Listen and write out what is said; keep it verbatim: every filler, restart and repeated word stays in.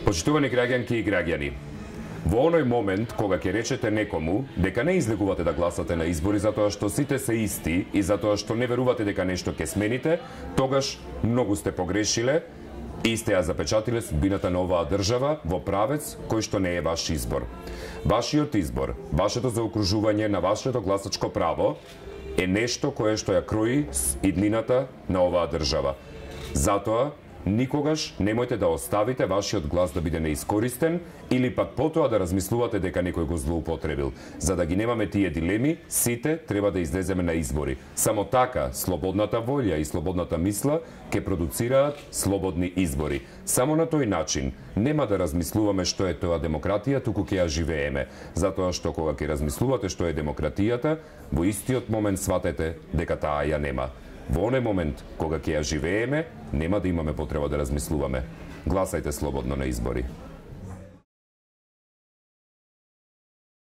Почитувани граѓанки и граѓани, во оној момент кога ќе речете некому дека не излегувате да гласате на избори затоа што сите се исти и затоа што не верувате дека нешто ќе смените, тогаш многу сте погрешиле и сте ја запечатиле судбината на оваа држава во правец кој што не е ваш избор. Вашиот избор, вашето заокружување на вашето гласачко право е нешто кое што ја крои иднината на оваа држава. Затоа никогаш немојте да оставите вашиот глас да биде неискористен или пак потоа да размислувате дека некој го злоупотребил. За да ги немаме тие дилеми, сите треба да излеземе на избори. Само така слободната волја и слободната мисла ќе продуцираат слободни избори. Само на тој начин нема да размислуваме што е тоа демократија, туку ќе ја живееме. Затоа што кога ќе размислувате што е демократијата, во истиот момент сватете дека таа ја нема. Во оној момент, кога ќе ја живееме, нема да имаме потреба да размислуваме. Гласајте слободно на избори.